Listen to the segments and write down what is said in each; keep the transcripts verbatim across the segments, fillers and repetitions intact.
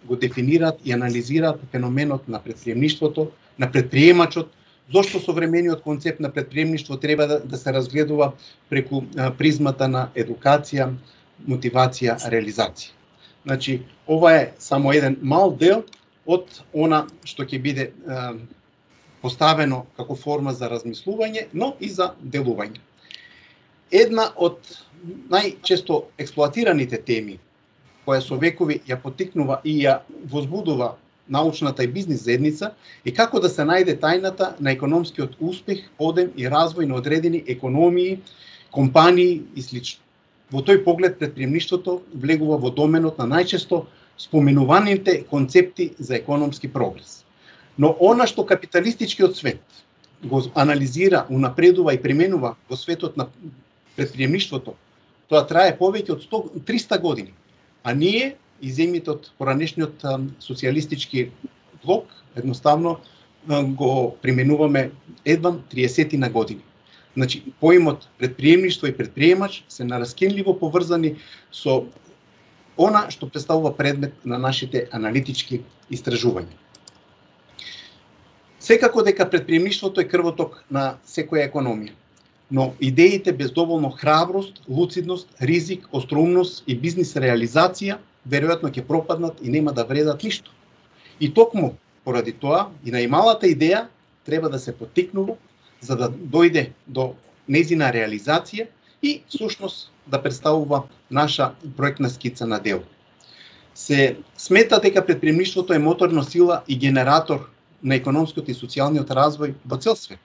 го дефинираат и анализираат феноменот на предприемништвото, на предприемачот, зошто современиот концепт на предприемништво треба да, да се разгледува преку а, призмата на едукација, мотивација, реализација. Значи, ова е само еден мал дел од она што ќе биде а, поставено како форма за размислување, но и за делување. Една од најчесто експлоатираните теми, која со векови ја поттикнува и ја возбудува научната и бизнис заедница, е како да се најде тајната на економскиот успех, одем и развој на одредени економии, компании и слично. Во тој поглед предприемништвото влегува во доменот на најчесто споменуваните концепти за економски прогрес. Но она што капиталистичкиот свет го анализира, унапредува и применува во светот на предприемништвото, тоа трае повеќе од сто триста години. А ние, и земјите од поранешниот социјалистички блок, едноставно го применуваме едвам триесет години. Значи, поимот предприемништво и предприемач се нараскинливо поврзани со она што представува предмет на нашите аналитички истражувања. Секако дека предприемништвото е крвоток на секоја економија, но идеите без доволно храброст, луцидност, ризик, остроумност и бизнис реализација веројатно ќе пропаднат и нема да вредат ништо. И токму поради тоа и најмалата идеја треба да се поттикнува за да дојде до нејзина реализација и всушност да представува наша проектна скица на дело. Се смета дека предприемништвото е моторна сила и генератор на економскиот и социјалниот развој во цел свет.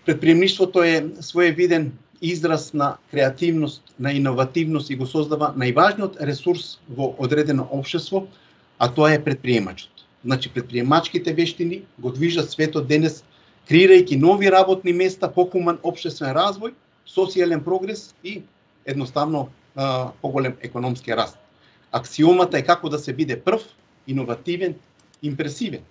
Предприемништвото е своевиден израз на креативност, на иновативност и го создава најважниот ресурс во одредено општество, а тоа е предприемачот. Значи, предприемачките вештини го движат светот денес, креирајќи нови работни места, похуман општествен развој, социјален прогрес и едноставно а, поголем економски раст. Аксиомата е како да се биде прв, иновативен, импресивен.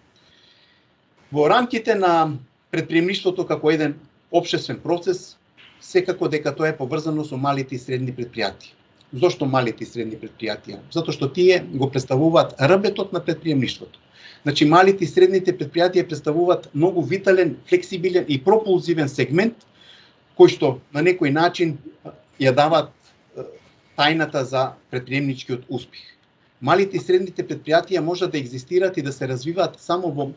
Во рамките на предприемништвото како еден општествен процес, секако дека тоа е поврзано со малите и средни предпријатија. Зошто малите и средни предпријатија? Затоа што тие го представуваат рбетот на предприемништвото. Значи, малите и средните предпријатија представуваат многу витален, флексибилен и пропулзивен сегмент, кој што на некој начин ја даваат тајната за предприемничкиот успех. Малите и средните предпријатија можат да екзистираат и да се развиваат само во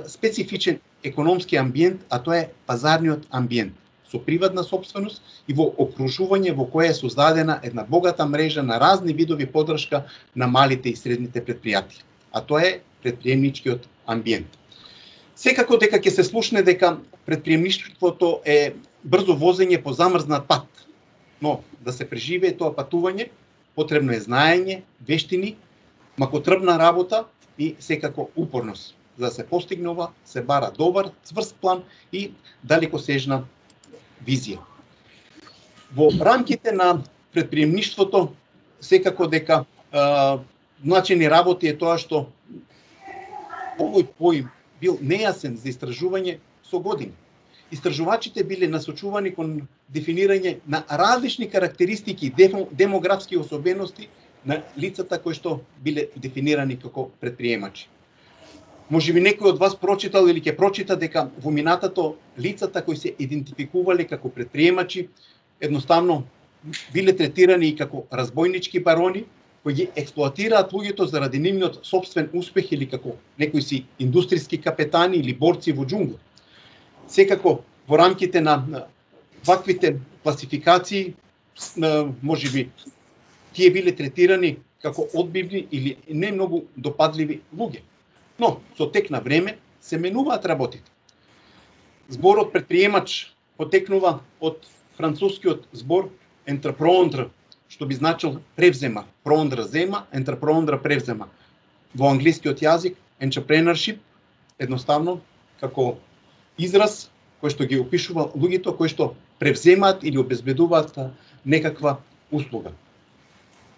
специфичен економски амбиент, а тоа е пазарниот амбиент, со приватна сопственост и во окружување во кое е создадена една богата мрежа на разни видови поддршка на малите и средните предпријатија, а тоа е предприемничкиот амбиент. Секако дека ќе се слушне дека предприемништвото е брзо возење по замрзнат пат, но да се преживее тоа патување, потребно е знаење, вештини, макотрбна работа и секако упорност. За да се постигне ова, се бара добар, цврст план и далекосежна визија. Во рамките на предприемништвото, секако дека а, значени работи е тоа што овој поим бил нејасен за истражување со години. Истражувачите биле насочувани кон дефинирање на различни карактеристики и демографски особености на лицата кои што биле дефинирани како предприемачи. Може би некој од вас прочитал или ќе прочита дека во минатото лицата кои се идентификувале како предприемачи едноставно биле третирани и како разбойнички барони кои ги експлоатираат луѓето заради нивниот сопствен успех или како некои си индустријски капетани или борци во џунгла. Секако во рамките на ваквите класификации може би тие биле третирани како одбивни или не многу допадливи луѓе. Но со тек на време се менуваат работите. Зборот предприемач потекнува од францускиот збор entreprendre, што би значил превзема, prendre зема, entreprendre превзема. Во англискиот јазик entrepreneurship едноставно како израз кој што ги опишува луѓето кои што превземаат или обезбедуваат некаква услуга.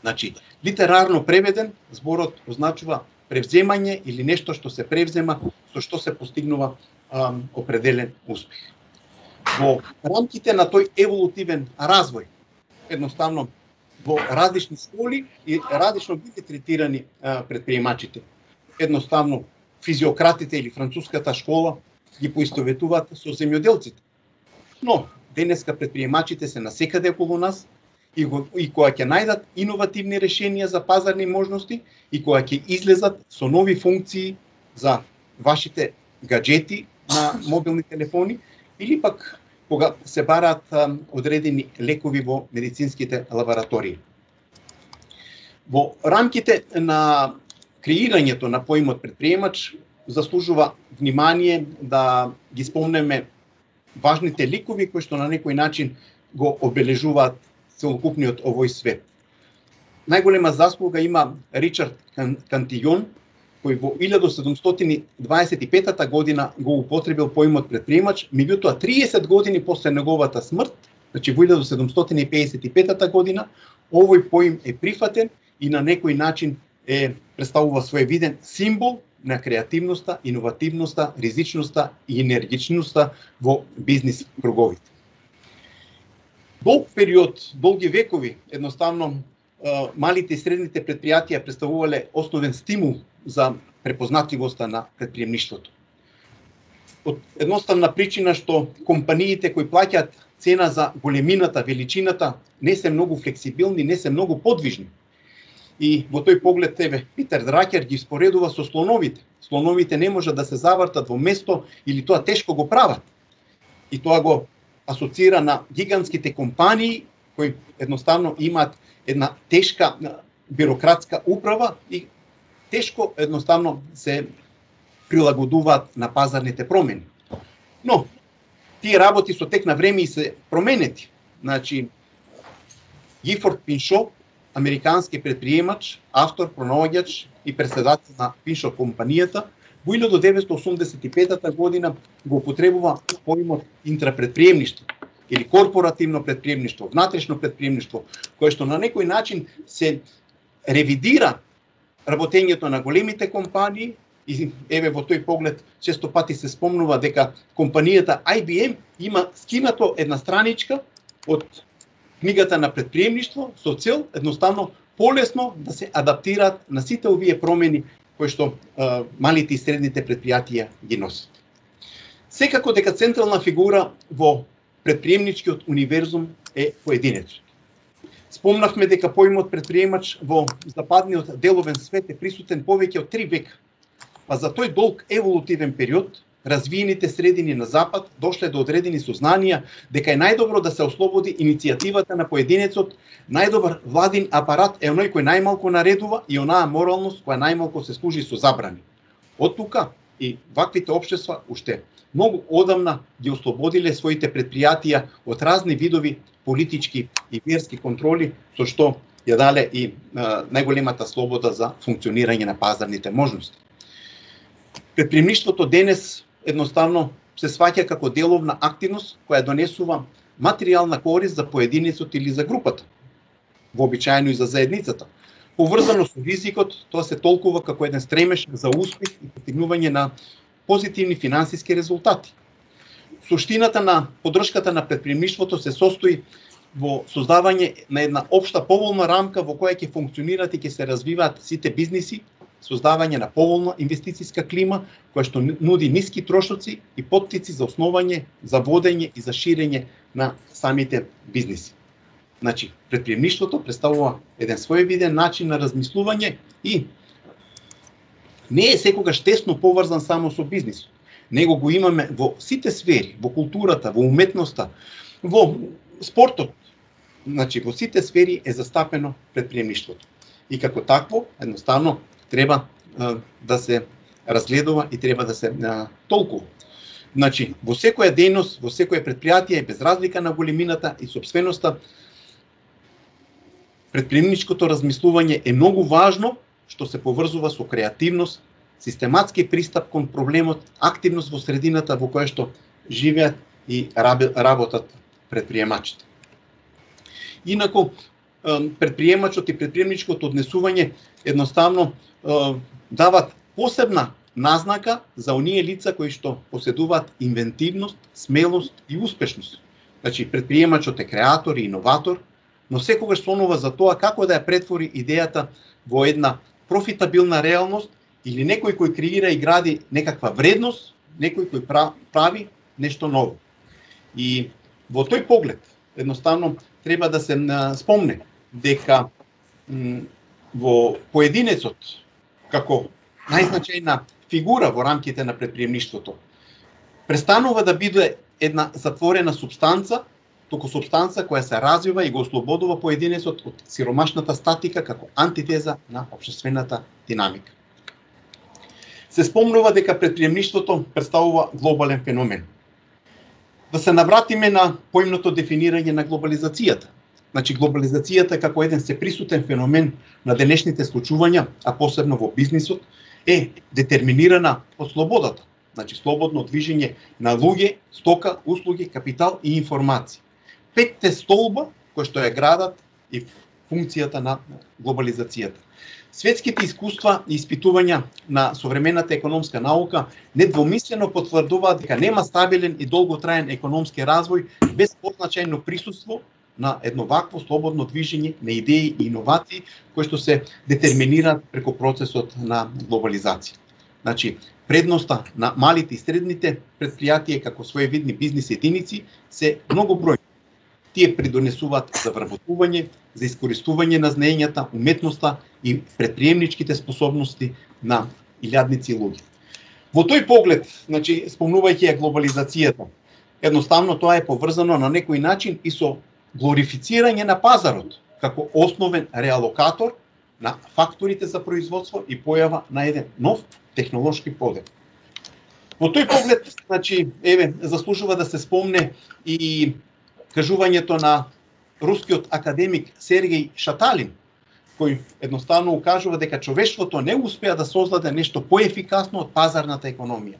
Значи, литерарно преведен, зборот означува превземање или нешто што се превзема, со што се постигнува а, определен успех. Во рамките на тој еволутивен развој, едноставно во различни школи и различно бидат третирани а, предприемачите. Едноставно, физиократите или француската школа ги поистоветуваат со земјоделците. Но, денеска предприемачите се насекаде околу нас и, го, и кога ќе најдат иновативни решенија за пазарни можности и кога ќе излезат со нови функции за вашите гаджети на мобилни телефони или пак кога се бараат а, одредени лекови во медицинските лаборатории. Во рамките на креирањето на поимот предприемач заслужува внимание да ги спомнеме важните ликови кои што на некој начин го обележуваат целокупниот овој свет. Најголема заслуга има Ричард Кантијон, кој во илјада седумстотини дваесет и петата година го употребил поимот предприемач, меѓутоа триесет години после неговата смрт, значи во илјада седумстотини пеесет и петата година, овој поим е прифатен и на некој начин е представува своевиден символ на креативноста, иновативноста, ризичноста и енергичноста во бизнис круговите. Долг период, долги векови, едноставно малите и средните предпријатија представувале основен стимул за препознатливоста на предприемништвото. Од едноставна причина што компаниите кои плаќаат цена за големината, величината, не се многу флексибилни, не се многу подвижни. И во тој поглед тебе Питер Дракер ги споредува со слоновите. Слоновите не можат да се завртат во место или тоа тешко го прават. И тоа го асоцира на гигантските компании кои едноставно имаат една тешка бирократска управа и тешко едноставно се прилагодуваат на пазарните промени. Но тие работи со тек на време и се променети. Значи Гифорд Пиншо, американски предприемач, автор, пронаоѓач и председател на Пиншо компанијата, во илјада деветстотини осумдесет и петата година го употребува поимот интрапредприемништво или корпоративно предприемништво, внатрешно предприемништво, кое што на некој начин се ревидира работењето на големите компании и еве во тој поглед често пати се спомнува дека компанијата Ай Би Ем има скинато една страничка од книгата на предприемништво со цел едноставно полесно да се адаптираат на сите овие промени кои што а, малите и средните предпријатија ги носат. Секако дека централна фигура во предприемничкиот универзум е поединецот. Спомнавме дека поимот предприемач во западниот деловен свет е присутен повеќе од три века. Па за тој долг еволутивен период, развиените средини на Запад дошле до одредени сознанија дека е најдобро да се ослободи иницијативата на поединецот, најдобар владин апарат е оној кој најмалку наредува и онаа моралност која најмалку се служи со забрани. Од тука и ваквите општества уште многу одамна ги ослободиле своите предпријатија од разни видови политички и верски контроли, со што ја дале и а, најголемата слобода за функционирање на пазарните можности. Предприемништвото денес едноставно се сваќа како деловна активност која донесува материјална корист за поединецот или за групата, вообичаено и за заедницата. Поврзано со ризикот, тоа се толкува како еден стремеж за успех и постигнување на позитивни финансиски резултати. Суштината на поддршката на предприемништвото се состои во создавање на една општа поволна рамка во која ќе функционираат и ќе се развиваат сите бизниси, создавање на поволна инвестициска клима која што нуди ниски трошоци и поттици за основање, за водење и за ширење на самите бизниси. Значи, предприемништвото представува еден своевиден начин на размислување и не е секогаш тесно поврзан само со бизнисот. Него го имаме во сите сфери, во културата, во уметноста, во спортот. Значи, во сите сфери е застапено предприемништвото. И како такво, едноставно, треба а, да се разгледува и треба да се а, толкува. Значи, во секоја дејност, во секоја предпријатие, без разлика на големината и собственоста, предприемничкото размислување е многу важно, што се поврзува со креативност, систематски пристап кон проблемот, активност во средината во која што живеат и работат предприемачите. Инаку, предприемачот и предприемничкото однесување едноставно дават посебна назнака за оние лица кои што поседуваат инвентивност, смелост и успешност. Значи, предприемачот е креатор и иноватор, но секогаш сонува за тоа како да ја претвори идејата во една профитабилна реалност или некој кој креира и гради некаква вредност, некој кој прави нешто ново. И во тој поглед, едноставно, треба да се спомне дека во поединецот, како најзначајна фигура во рамките на претприемништвото, престанува да биде една затворена субстанца, туку субстанца која се развива и го ослободува поединецот од сиромашната статика како антитеза на општествената динамика. Се спомнува дека претприемништвото представува глобален феномен. Да се навратиме на поимното дефинирање на глобализацијата. Значи, глобализацијата како еден сеприсутен феномен на денешните случувања, а посебно во бизнисот, е детерминирана од слободата. Значи, слободно движење на луѓе, стока, услуги, капитал и информации. Петте столба кои што ја градат и функцијата на глобализацијата. Светските искуства и испитувања на современата економска наука недвомислено потврдуваат дека нема стабилен и долготраен економски развој без позначајно присуство на едно вакво слободно движење на идеи и иновации кои што се детерминираат преку процесот на глобализација. Значи, предноста на малите и средните претпријатија како своевидни бизнис единици се многу бројни. Тие придонесуваат за вработување, за искористување на знаењата, уметноста и претприемничките способности на илјадници луѓе. Во тој поглед, значи, спомнувајќи ја глобализацијата, едноставно тоа е поврзано на некој начин и со глорифицирање на пазарот како основен реалокатор на факторите за производство и појава на еден нов технолошки подел. Во тој поглед, значи, еве, заслужува да се спомне и кажувањето на рускиот академик Сергеј Шаталин, кој едноставно укажува дека човештвото не успеа да создаде нешто поефикасно од пазарната економија.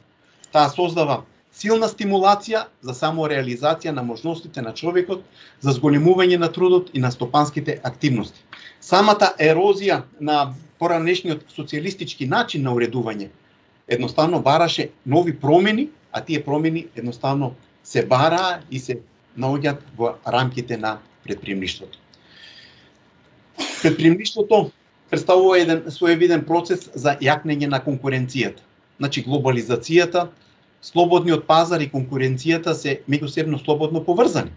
Таа создава силна стимулација за самореализација на можностите на човекот, за зголемување на трудот и на стопанските активности. Самата ерозија на поранешниот социјалистички начин на уредување едноставно бараше нови промени, а тие промени едноставно се бараа и се наоѓаат во рамките на претприемништвото. Претприемништвото представува еден своевиден процес за јакнење на конкуренцијата. Значи, глобализацијата, слободниот пазар и конкуренцијата се меѓусебно слободно поврзани.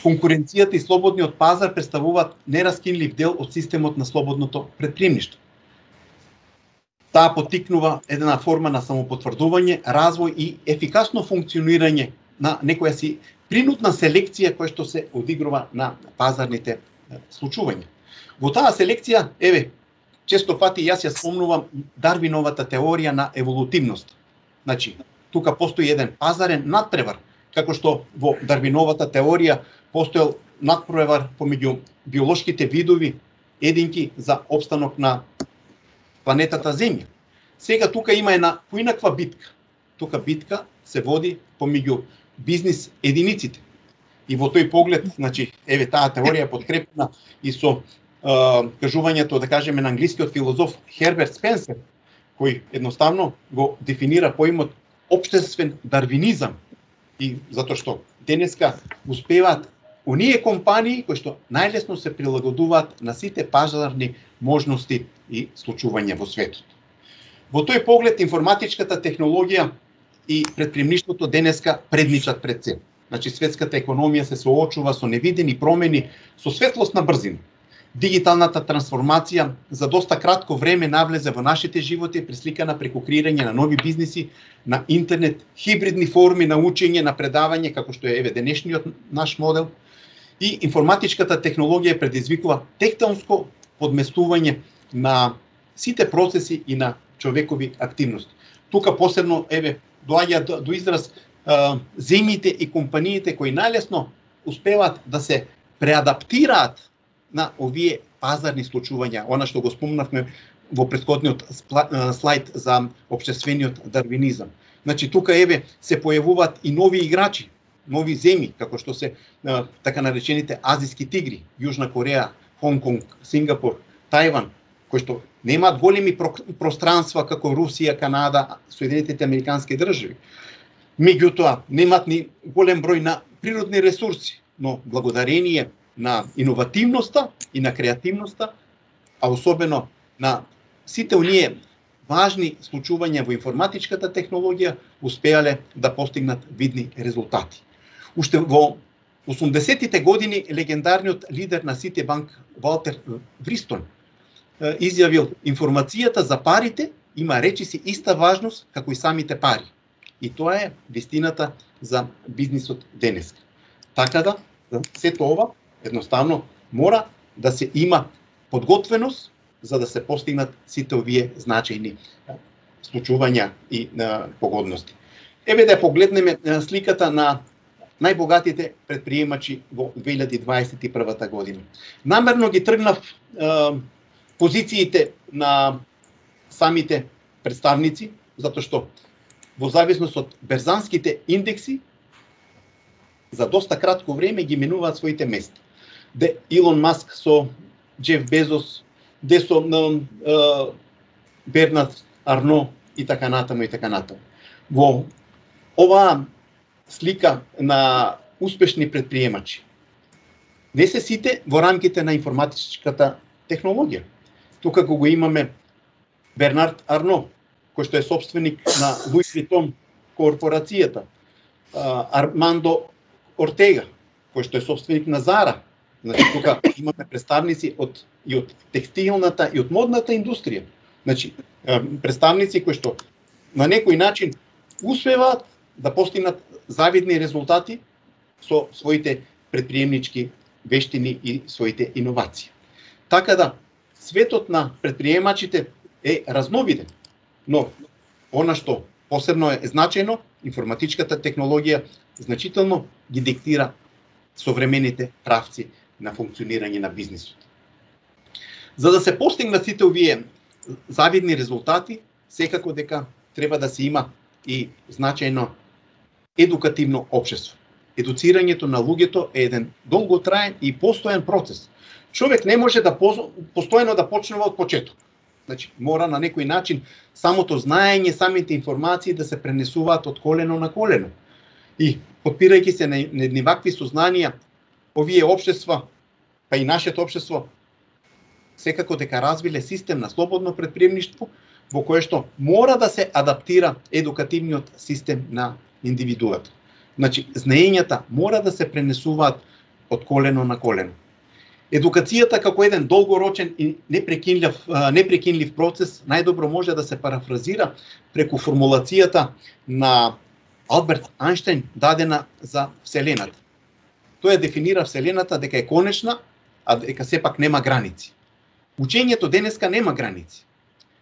Конкуренцијата и слободниот пазар представуваат нераскинлив дел од системот на слободното претприемништво. Таа поттикнува една форма на самопотврдување, развој и ефикасно функционирање на некоја си принудна селекција која што се одигрува на пазарните случувања. Во таа селекција, еве, често пати јас ја спомнувам Дарвиновата теорија на еволутивност. Значи, тука постои еден пазарен надпревар, како што во Дарвиновата теорија постоел надпревар помеѓу биолошките видови единки за опстанок на планетата Земја. Сега тука има една поинаква битка. Тука битка се води помеѓу бизнис единиците. И во тој поглед, значи, еве таа теорија подкрепена и со е, кажувањето, да кажеме, на англискиот филозоф Херберт Спенсер, кој едноставно го дефинира поимот општествен дарвинизам, и затоа што денеска успеваат оние компании кои што најлесно се прилагодуваат на сите пазарни можности и случувања во светот. Во тој поглед информатичката технологија и претприемништвото денеска предничат пред се. Значи, светската економија се соочува со невидени промени со светлосна брзина. Дигиталната трансформација за доста кратко време навлезе во нашите животи, пресликана преку креирање на нови бизниси, на интернет, хибридни форми на учење, на предавање, како што е еве денешниот наш модел. И информатичката технологија предизвикува тектонско подместување на сите процеси и на човекови активности. Тука посебно еве доаѓа до, до израз а, земјите и компаниите кои најлесно успеваат да се преадаптираат на овие пазарни случувања, она што го спомнавме во претходниот слайд за општествениот дарвинизам. Значи, тука еве се појавуваат и нови играчи, нови земји, како што се а, така наречените азиски тигри, Јужна Кореја, Хонг Конг, Сингапур, Тајван, кои што немаат големи пространства како Русија, Канада, Соединетите Американски држави. Меѓутоа, немаат ни голем број на природни ресурси, но благодарение на иновативноста и на креативноста, а особено на сите оние важни случувања во информатичката технологија успеале да постигнат видни резултати. Уште во осумдесеттите години легендарниот лидер на Ситибанк Валтер Вристон изјавил: информацијата за парите има речиси иста важност како и самите пари. И тоа е вистината за бизнисот денес. Така да, сето ова едноставно мора да се има подготвеност за да се постигнат сите овие значајни случувања и а, погодности. Еве да погледнеме сликата на најбогатите предприемачи во две илјади дваесет и прва година. Намерно ги тргнав а, позициите на самите представници, затоа што во зависност од берзанските индекси за доста кратко време ги менуваат своите места. Де Илон Маск со Джеф Безос, де со uh, Бернард Арно и така натаму и така натаму. Во оваа слика на успешни предприемачи не се сите во рамките на информатичката технологија. Тука го имаме Бернард Арно, кој што е собственик на Луи Витон корпорацијата, Армандо Ортега, кој што е собственик на Зара. Значи, тука имаме представници од и од текстилната и од модната индустрија. Значи, представници кои што на некој начин успеваат да постигнат завидни резултати со своите предприемнички вештини и своите иновации. Така да, светот на предприемачите е разновиден, но она што посебно е значајно, информатичката технологија значително ги диктира современите правци на функционирање на бизнисот. За да се постигнат сите овие завидни резултати, секако дека треба да се има и значајно едукативно општество. Едуцирањето на луѓето е еден долготраен и постојан процес. Човек не може да постојано да почнува од почеток. Значи, мора на некој начин самото знаење, самите информации да се пренесуваат од колено на колено. И подпирајќи се на едни вакви сознанија, овие општества, па и нашето општество, секако дека развиле систем на слободно предприемништво, во кое што мора да се адаптира едукативниот систем на индивидуата. Значи, знаењата мора да се пренесуваат од колено на колено. Едукацијата како еден долгорочен и непрекинлив, непрекинлив процес најдобро може да се парафразира преку формулацијата на Алберт Ајнштајн дадена за Вселената. Тој дефинира Вселената дека е конечна, а дека сепак нема граници. Учењето денеска нема граници,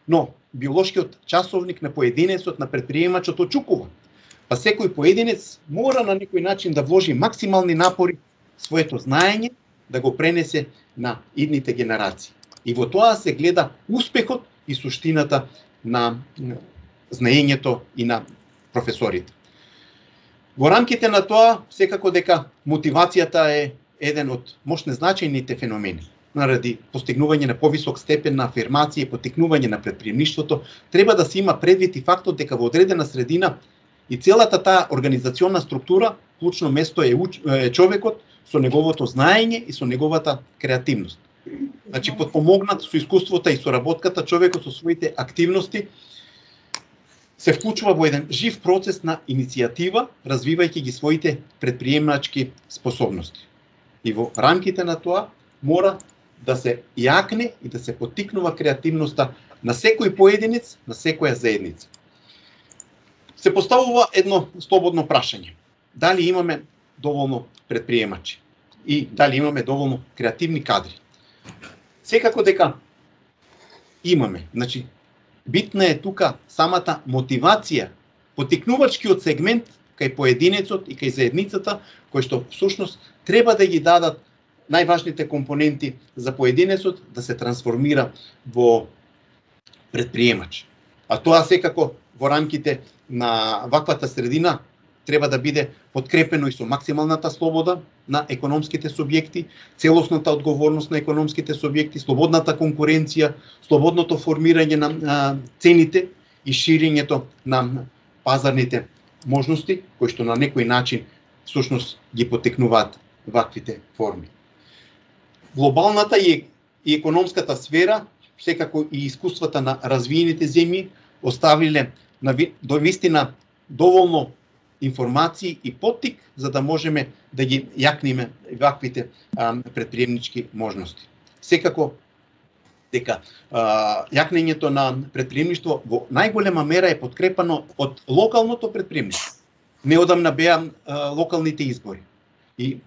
но биолошкиот часовник на поединецот, на предприемачот очукува. Па секој поединец мора на некој начин да вложи максимални напори своето знаење да го пренесе на идните генерации. И во тоа се гледа успехот и суштината на знаењето и на професорите. Во рамките на тоа, секако дека мотивацијата е еден од мощно значајните феномени. Наради постигнување на повисок степен на афирмација и поттикнување на предприемништвото, треба да се има предвид и фактот дека во одредена средина и целата таа организационна структура, клучно место е, е човекот со неговото знаење и со неговата креативност. Значи, подпомогнат со искуството и соработката, човекот со своите активности се вклучува во еден жив процес на иницијатива, развивајќи ги своите предприемачки способности. И во рамките на тоа мора да се јакне и да се поттикнува креативноста на секој поединец, на секоја заедница. Се поставува едно слободно прашање. Дали имаме доволно предприемачи и дали имаме доволно креативни кадри? Секако дека имаме. Значи, битна е тука самата мотивација, поттикнувачкиот сегмент кај поединецот и кај заедницата, кој што всушност треба да ги дадат најважните компоненти за поединецот да се трансформира во предприемач. А тоа секако во рамките на ваквата средина треба да биде подкрепено и со максималната слобода на економските субјекти, целосната одговорност на економските субјекти, слободната конкуренција, слободното формирање на а, цените и ширењето на пазарните можности, кои што на некој начин всушност ги поттикнуваат ваквите форми. глобалната и, и економската сфера, секако и искуствата на развиените земји оставиле на до вистина доволно информации и поттик за да можеме да ги јакнеме ваквите а, предприемнички можности. Секако дека а, јакнењето на предприемништво во најголема мера е подкрепано од локалното предприемништво. Неодамна беа а, локалните избори. И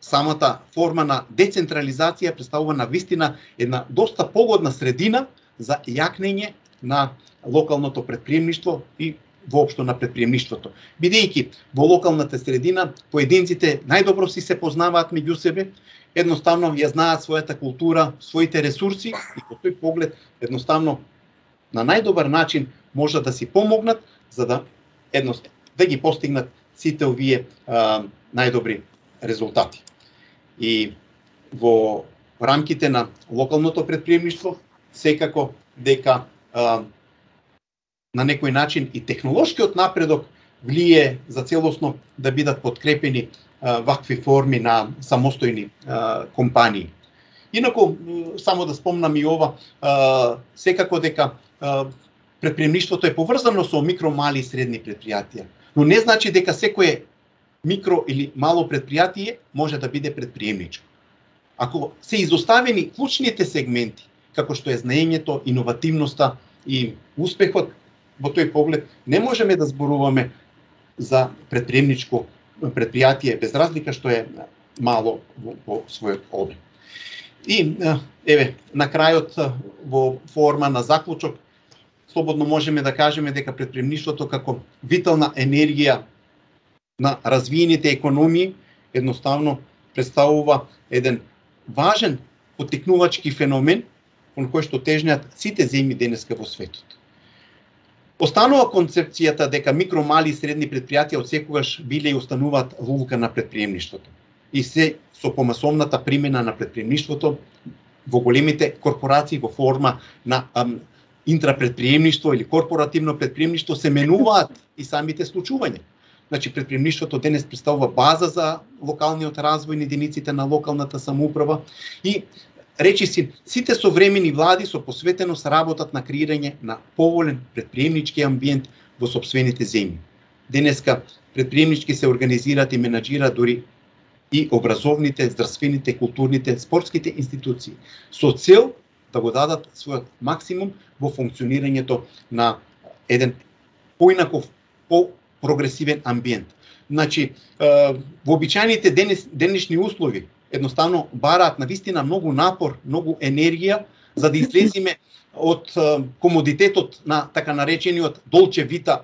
самата форма на децентрализација представува на вистина една доста погодна средина за јакнење на локалното предприемништво и воопшто на предприемништвото. Бидејќи во локалната средина поединците најдобро си се познаваат меѓу себе, едноставно ја знаат својата култура, своите ресурси и по тој поглед едноставно на најдобар начин можат да си помогнат за да едноставно да ги постигнат сите овие а, најдобри резултати. И во рамките на локалното предприемништво секако дека а, на некој начин и технолошкиот напредок влие за целосно да бидат подкрепени а, вакви форми на самостојни а, компании. Инаку, само да спомнам и ова, а, секако дека а, предприемништвото е поврзано со микро, мали и средни предпријатија, но не значи дека секое микро или мало предпријатие може да биде предприемничко. Ако се изоставени клучните сегменти, како што е знаењето, иновативноста и успехот, во тој поглед не можеме да зборуваме за предприемничко предпријатие без разлика што е мало во, во својот обим. И еве на крајот во форма на заклучок слободно можеме да кажеме дека предприемништвото како витална енергија на развиените економии едноставно представува еден важен поттикнувачки феномен кон кој што тежнеат сите земји денеска во светот. Останува концепцијата дека микро, мали и средни предпријатија отсекогаш биле и остануваат лулка на предприемништвото. И се со помасовната примена на предприемништвото во големите корпорации во форма на ам, интрапредприемништво или корпоративно предприемништво се менуваат и самите случувања. Значи, предприемништвото денес представува база за локалниот развој на единиците на локалната самоуправа и речиси сите современи влади со посветеност работат на креирање на поволен предприемнички амбиент во сопствените земји. Денеска предприемнички се организираат и менаџираат дури и образовните, здравствените, културните, спортските институции со цел да го дадат својот максимум во функционирањето на еден поинаков, по-прогресивен амбиент. Значи, во обичајните денес, денешни услови едноставно бараат на вистина многу напор, многу енергија за да излеземе од комодитетот на така наречениот долче вита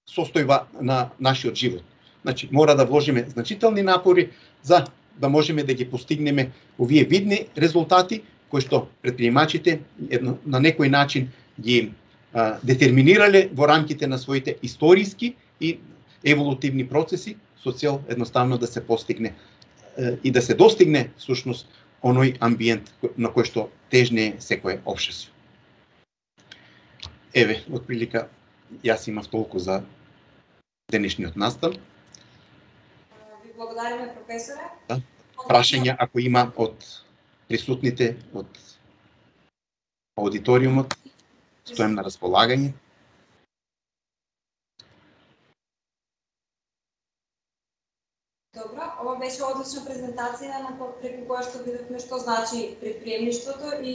состојба на нашиот живот. Значи, мора да вложиме значителни напори за да можеме да ги постигнеме овие видни резултати кои што предприемачите едно, на некој начин ги а, детерминирале во рамките на своите историски и еволутивни процеси со цел едноставно да се постигне и да се достигне всушност оној амбиент на кој што тежне секое општество. Еве, отприлика јас имав толку за денешниот настан. Ви благодариме, професоре. Да. Прашања ако има од присутните, од аудиториумот, стојам на располагање. Добро, ова беше одлична презентација на преку која што видовме што значи предприемништвото и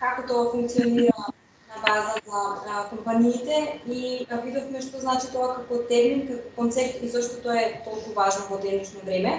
како тоа функционира на база на компаниите и видовме што значи тоа како термин, како концепт и зашто тоа е толку важно во денешно време.